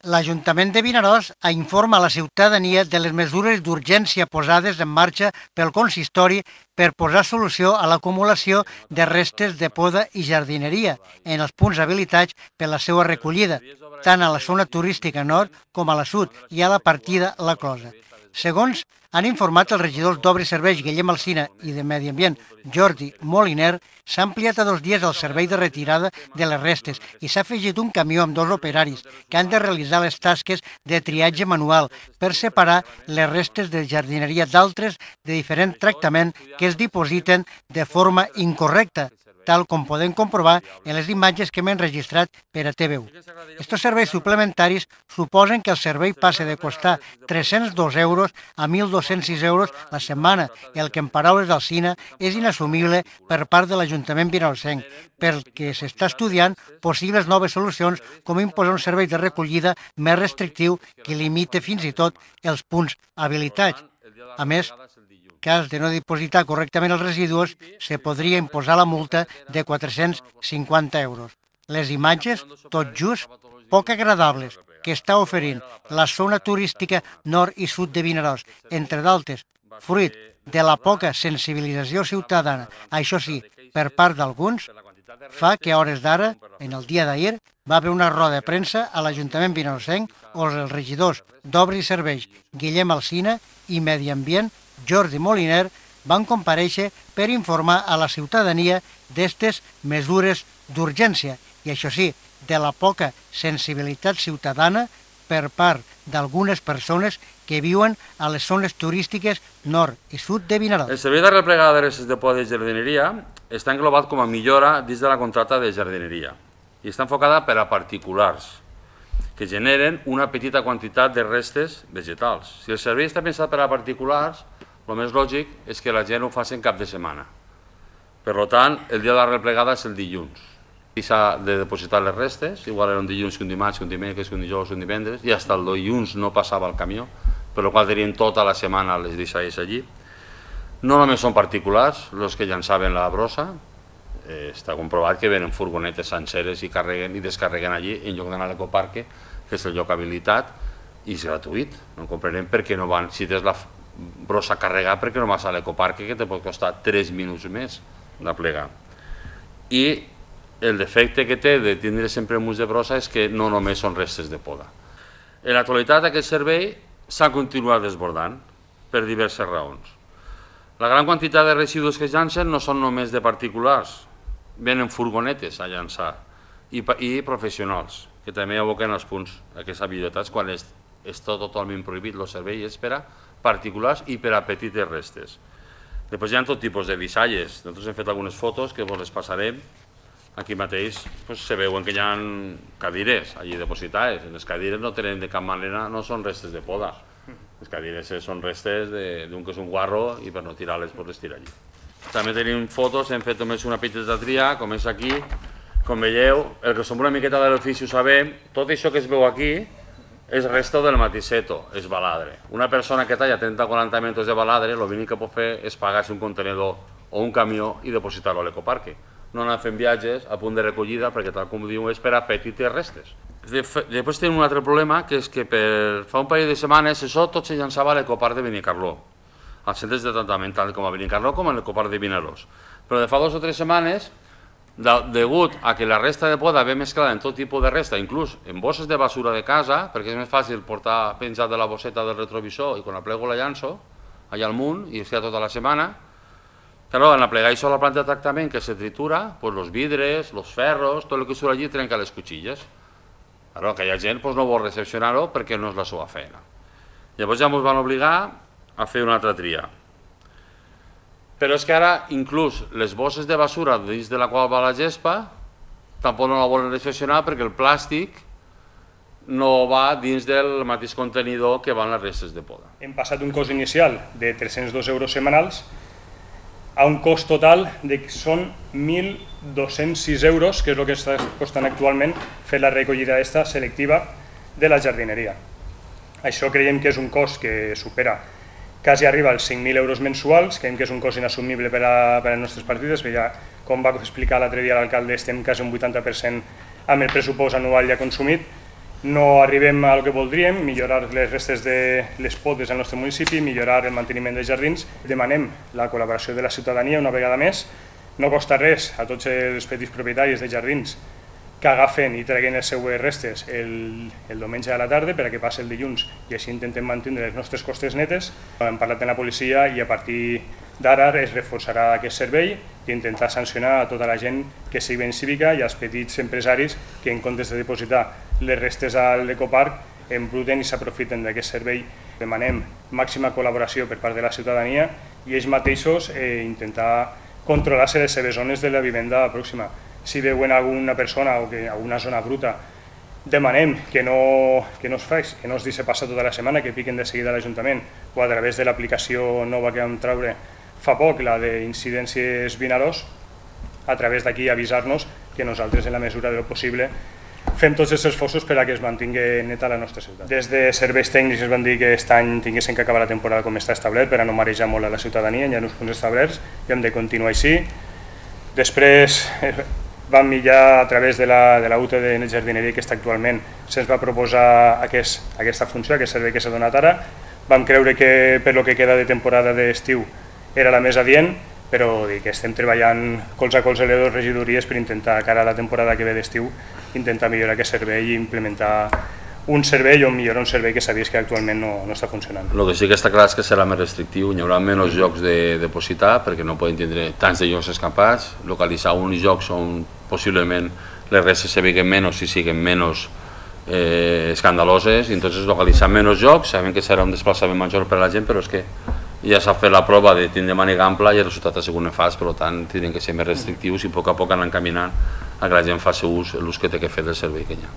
L'Ajuntament de Vinaròs informa a la ciutadania de les mesures d'urgència posades en marxa pel consistori per posar solució a l'acumulació de restes de poda i jardineria en els punts habilitats per la seva recollida, tant a la zona turística nord com a la sud i a la partida La Closa. Segons han informat els regidors d'Obres i Serveis Guillem Alsina i de Medi Ambient Jordi Moliner, s'ha ampliat a 2 dies el servei de retirada de les restes i s'ha afegit un camió amb 2 operaris que han de realitzar les tasques de triatge manual per separar les restes de jardineria d'altres de diferent tractament que es dipositen de forma incorrecta, tal com podem comprovar en les imatges que hem enregistrat per a TVU. Estos serveis suplementaris suposen que el servei passe de costar 302 euros a 1.206 euros la setmana, el que en paraules d'Alsina és inassumible per part de l'Ajuntament vinaròsenc, perquè s'està estudiant possibles noves solucions com imposar un servei de recollida més restrictiu que limite fins i tot els punts habilitats. A més, cas de no dipositar correctament els residus, se podria imposar la multa de 450 euros. Les imatges, tot just, poc agradables, que està oferint la zona turística nord i sud de Vinaròs, entre d'altres, fruit de la poca sensibilització ciutadana, això sí, per part d'alguns, fa que a hores d'ara, en el dia d'ahir, va haver una roda de premsa a l'Ajuntament vinaròsenc on els regidors d'Obres i Serveis Guillem Alsina i Medi Ambient Jordi Moliner van comparèixer per informar a la ciutadania d'estes mesures d'urgència i, això sí, de la poca sensibilitat ciutadana per part d'algunes persones que viuen a les zones turístiques nord i sud de Vinaròs. El servei de replegada de restes de poda i jardineria està englobat com a millora dins de la contracta de jardineria i està enfocada per a particulars que generen una petita quantitat de restes vegetals. Si el servei està pensat per a particulars, el més lògic és que la gent ho faci en cap de setmana. Per tant, el dia de la replegada és el dilluns. I s'ha de depositar les restes, igual era un dilluns que un dimarts, que un dimecres, que un dijous, que un divendres, i fins el dilluns no passava el camió, per la qual tenien tota la setmana les deixalles allí. No només són particulars els que llançaven la brossa, està comprovat que venen furgonetes senceres i carreguen i descarreguen allí en lloc d'anar a l'ecoparque, que és el lloc habilitat, i és gratuït. No comprenem per què no van, si tens la brossa carregada, perquè no vas a l'ecoparque, que te pot costar 3 minuts més de plegar. I el defecte que té de tindre sempre muts de brossa és que no només són restes de poda. En l'actualitat aquest servei s'ha continuat desbordant per diverses raons. La gran quantitat de residus que es llancen no són només de particulars, venen furgonetes a llançar i professionals, que també aboquen els punts aquestes habilitats quan està totalment prohibit el servei és per a particulars i per a petites restes. Després hi ha tot tipus de deixalles. Nosaltres hem fet algunes fotos que vos les passarem. Aquí mateix se veuen que hi ha cadires allí depositades. Les cadires no tenen de cap manera, no són restes de poda. Les cadires són restes d'un que és un guarro i per no tirar-les pots les tirar allí. També tenim fotos, hem fet només una petita tria, com és aquí. Com veieu, el que som una miqueta de l'ofici ho sabem, tot això que es veu aquí és resto del matiseto, és baladre. Una persona que talla 30 o 40 metres de baladre, l'únic que pot fer és pagar-se un contenedor o un camió i depositar-lo a l'ecoparque. No anar fent viatges a punt de recollida perquè, tal com diu, és per a petites restes. Després tenim un altre problema, que és que fa un parell de setmanes això tot se llançava a l'ecoparc de Benicarló, als centres de tractament, tant com a Benicarló com a l'ecoparc de Vinaròs. Però de fa 2 o 3 setmanes, degut a que la resta de poda ve mesclada en tot tipus de resta, inclús en bosses de basura de casa, perquè és més fàcil portar penjat de la bosseta del retrovisor i quan la plego la llanço allà al munt i es queda tota la setmana. Claro, en aplegar això a la planta de tractament que se tritura, els vidres, els ferros, tot el que surt allí trenca les cuchilles. Claro, aquella gent no vol recepcionar-ho perquè no és la seva feina. Llavors ja ens van obligar a fer una altra tria. Però és que ara, inclús les bosses de basura dins de la qual va la gespa, tampoc no la volen recepcionar perquè el plàstic no va dins del mateix contenidor que van les restes de poda. Hem passat un cost inicial de 302 euros setmanals a un cost total de que són 1.206 euros, que és el que està costant actualment fer la recollida selectiva de la jardineria. Això creiem que és un cost que supera, quasi arriba als 5.000 euros mensuals, creiem que és un cost inassumible per a les nostres partides, perquè ja, com va explicar l'altre dia l'alcalde, estem quasi un 80% amb el pressupost anual ja consumit, no arribem al que voldríem, millorar les restes de les podes al nostre municipi, millorar el manteniment dels jardins. Demanem la col·laboració de la ciutadania una vegada més. No costa res a tots els petits propietaris de jardins que agafen i treguin les seues restes el diumenge a la tarda per a que passi el dilluns i així intentem mantenir les nostres costes netes. Hem parlat amb la policia i a partir d'ara es reforçarà aquest servei i intentar sancionar a tota la gent que sigui ben cívica i als petits empresaris que en comptes de dipositar les restes a l'ecoparc embruten i s'aprofiten d'aquest servei. Demanem màxima col·laboració per part de la ciutadania i ells mateixos intentar controlar-se les seves zones de la vivenda pròxima. Si veuen alguna persona o alguna zona bruta, demanem que no es deixi passar tota la setmana, que piquen de seguida a l'Ajuntament o a través de l'aplicació nova que vam treure fa poc, la d'incidències Vinaròs, a través d'aquí avisar-nos que nosaltres, en la mesura del possible, fem tots els esforços per a que es mantingui neta la nostra ciutat. Des de serveis tècnics ens van dir que aquest any tinguessin que acabar la temporada com està establert per a no marejar molt a la ciutadania, hi ha uns punts establerts i hem de continuar així. Després vam mirar a través de la UTE de jardineria que està actualment, se'ns va proposar aquesta funció, aquest servei que s'ha donat ara. Vam creure que per lo que queda de temporada d'estiu era la més adient, però que estem treballant colze a colze a les dues regidories per intentar, cara a la temporada que ve d'estiu, intentar millorar aquest servei i implementar un servei o millorar un servei que sabies que actualment no està funcionant. El que sí que està clar és que serà més restrictiu, hi haurà menys llocs de depositar perquè no poden tindre tants de llocs escampats, localitzar uns llocs on possiblement les restes se veguen menys i siguin menys escandaloses, i entonces localitzar menys llocs, sabem que serà un desplaçament major per a la gent, però és que ja s'ha fet la prova de tindre màniga ampla i el resultat ha sigut nefast, per tant tindrem que ser més restrictius i a poc anar encaminant a que la gent faci l'ús que té que fer del servei que hi ha.